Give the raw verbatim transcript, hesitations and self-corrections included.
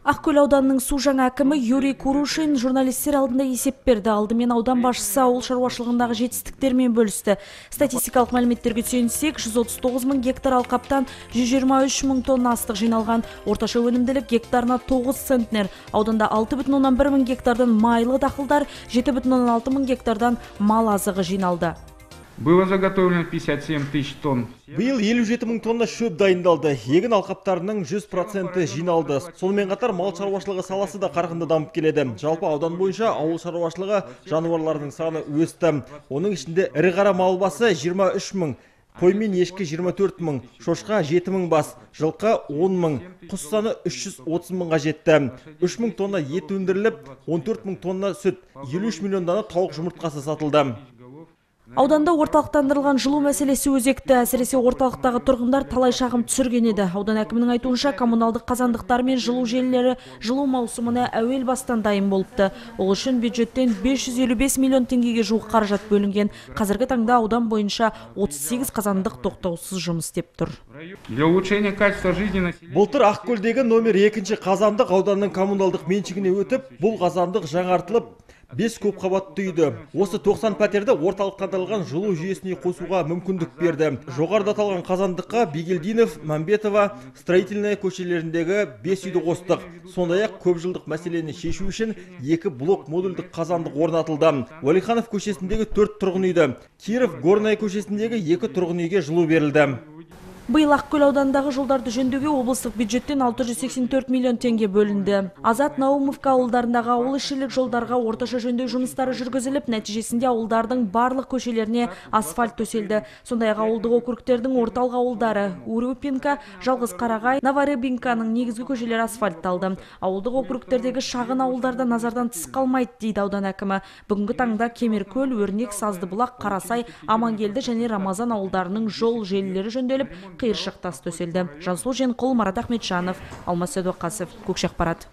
Ақкөл ауданының су жаңа әкімі Юрий Курушин журналистер алдында есеп берді. Алдымен аудан басшысы ауыл шаруашылығындағы жетістіктермен бөлісті. Статистикалық мәліметтерге сүйенсек, жүз отыз тоғыз мың гектар алқаптан жүз жиырма үш мың тонна астық жиналған. Орташа өнімділік гектарына тоғыз центнер. Ауданда алты бүтін оннан бір мың гектардан майлы дақылдар, жеті бүтін оннан алты мың гектардан мал азығы жиналды. Было заготовлено пятьдесят семь тысяч тонн. Биыл елу жеті мың тонна шөп дайындалды. Егін алқаптарының жүз проценті жиналды. Сонымен қатар мал шаруашылығы саласы да қарқынды дамып келеді. Жалпы аудан бойынша ауыл шаруашылығы жануарлардың саны өсті. Оның ішінде ірі қара мал басы жиырма үш мың, қой мен ешкі жиырма төрт мың, шошқа жеті мың бас, жылқы он мың, құс саны үш жүз отыз мыңға жетті. үш мың тонна ет өндіріліп, он төрт мың тонна сүт, елу үш миллион дана тауық жұмыртқасы сатылды. Ауданда орталықтандырылған жылу мәселесі өзекті. Әсіресе орталықтағы тұрғындар талай шағым түсірген еді. Аудан әкімінің айтуынша коммуналдық қазандықтар мен жылу желілері жылу маусымына әуел бастан дайын болыпты. Ол үшін бюджеттен бес жүз елу бес миллион теңгеге жуық қаражат бөлінген. Қазіргі таңда аудан бойынша отыз сегіз қазандық тоқтаусыз жұмыс істеп тұр. Для улучшения качества жизни Былтыр Ақкөлдегі номер екінші қазандық ауданның коммуналдық меншігіне өтіп, бұл қазандық жаңартылып, бес көп қабатты үйді. Осы тоқсан пәтерді орталықтандырылған жылу жүйесіне қосуға мүмкіндік берді. Жоғарыда аталған қазандыққа Бигелдинов, Мамбетова, Строительная көшелеріндегі бес үйді қостық. Сондай-ақ көп жылдық мәселені шешу үшін екі блок модульдік қазандық орнатылды. Уәлиханов көшесіндегі төрт тұрғын үйді, Киров Горная көшесіндегі екі тұрғын үйге жылу берілді. Биыл Ақкөл аудандағы жолдарды жөндеуге облыстық бюджеттен алты жүз сексен төрт миллион теңге бөлінді. Азат Наумовка ауылдарындағы ауыл ішілік жолдарға орташа жөндеу жұмыстары жүргізіліп, нәтижесінде ауылдардың барлық көшелеріне асфальт төселді. Сондай-ақ ауылдық округтердің орталық ауылдары Урюпинка, Жалғыз Қарағай, Новорыбинканың негізгі көшелері асфальтталды. Ауылдық округтердегі шағын ауылдарда назардан тыс қалмайды, дейді аудан әкімі. Бүгінгі таңда Кемеркөл, Өрнек, Саздыбұлақ, Қарасай, Амангелді және Рамазан ауылдарының жол желілері жөнделіп, қиыршық тас төселді. Жансұлу Женқұл, Марат Ахметжанов, Алмас Сәдуақасов, Көкшеқпарат.